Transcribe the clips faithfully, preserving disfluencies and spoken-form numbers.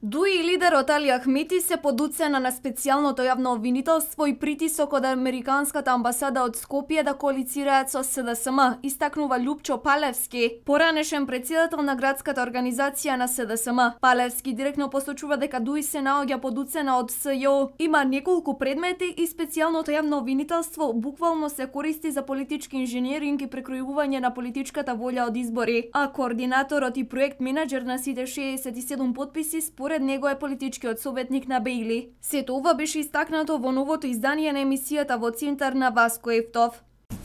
Дуи лидерот Али Ахмети се под уцена на специјалното јавно обвинителство и притисок од Американската амбасада од Скопје да коалицираат со С Д С М, истакнува Љупчо Палевски, поранешен претседател на градската организација на С Д С М. Палевски директно посочува дека Дуи се наоѓа под уцена од С Ј О, има неколку предмети и специјалното јавно обвинителство буквално се користи за политички инженеринг и прекројување на политичката волја од избори, а координаторот и проект менаџер на сите шеесет и седум потписи според него е политичкиот советник на Бејли. Сето ова беше истакнато во новото издание на емисијата во центар на Васко Ефтов.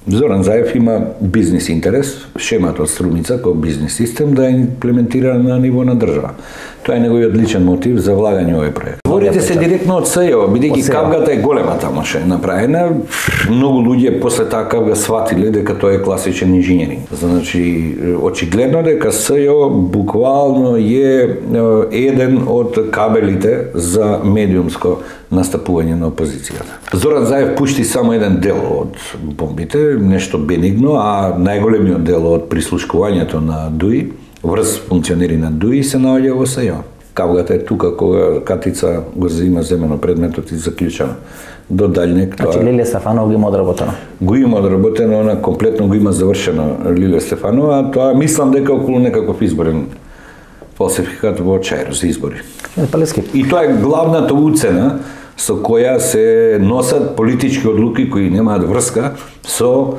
Зоран Заев има бизнис интерес, шемата од Струмица кој бизнис систем да имплементира на ниво на држава. Тоа е неговиот личен мотив за влагање во овој проект. Говорите се директно од С Ј О, бидејќи кавгата е голема тамаше направена. Многу луѓе после таа кавга сватиле дека тоа е класичен инженеринг. Значи, очигледно дека С Ј О буквално е еден од кабелите за медиумско настапување на опозицијата. Зоран Заев пушти само еден дел од бомбите, нешто бенигно, а најголемиот дел од прислушкувањето на Дуи, врз функционери на Дуи се наоѓа во С Ј О. Кавгата е тука кога Катица го зема земено предметот и заклучено. До дальнек тоа. Значи Лилија Стефанова го има одработено. Го има одработено, она комплетно го има завршено Лилија Стефанова, а тоа мислам дека околу некаков изборен фалсификат во Чаир за избори. И тоа е главната уцена со која се носат политички одлуки кои немаат врска со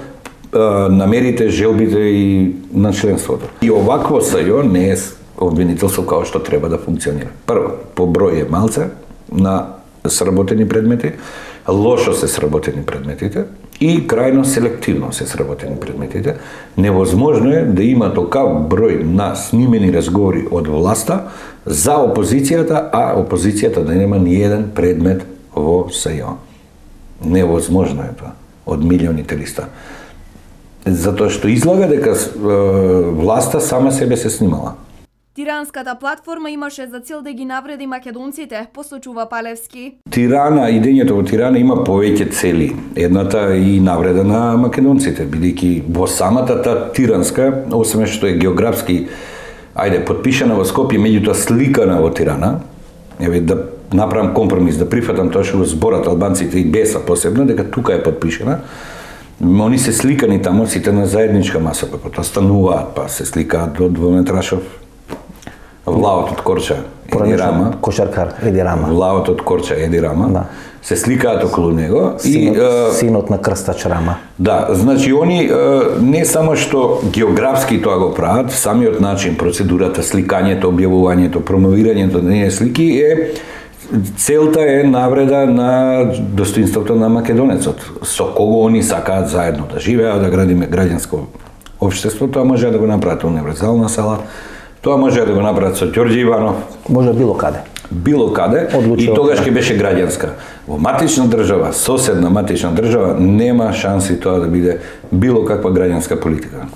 е, намерите, желбите и на членството. И овакво С Ј О не е обвинителство како што треба да функционира. Прво, по број е малце на сработени предмети, лошо се сработени предметите и крајно селективно се сработени предметите. Невозможно е да има толкав број на снимени разговори од власта за опозицијата, а опозицијата да нема ни еден предмет во С Ј О. Невозможно е тоа, од милионите листа. Затоа што излага дека власта сама себе се снимала. Тиранската платформа имаше за цел да ги навреди македонците, посочува Палевски. Тирана, идењето во Тирана има повеќе цели. Едната и навреда на македонците, бидејќи во самата та тиранска, освен што е географски, ајде, подпишана во Скопје, меѓутоа сликана во Тирана, еве да направам компромис, да прифатам тоа што го зборат албанците и Беса посебно, дека тука е подпишана, они се сликани таму сите на заедничка маса, па тоа стануваат, па се сликаат до двометрашов влавот од Корча Еди Рама, кошаркар Еди Рама. Влавот од Корча Еди Рама, да. Се сликаат околу него. Синот, и е, синот на Крстач Рама. Да, значи они е, не само што географски тоа го прават, самиот начин, процедурата, сликањето, објавувањето, промовирањето на нивни слики е целта е навреда на достоинството на македонецот, со кого они сакаат заедно да живеат, да градиме граѓанско општество. Тоа може да го направат универзална сала, тоа може да го направат со Ѓорѓе Иванов. Може било каде. Било каде. Одлучува. И тогаш ќе беше граѓанска. Во матична држава, соседна матична држава, нема шанси тоа да биде било каква граѓанска политика.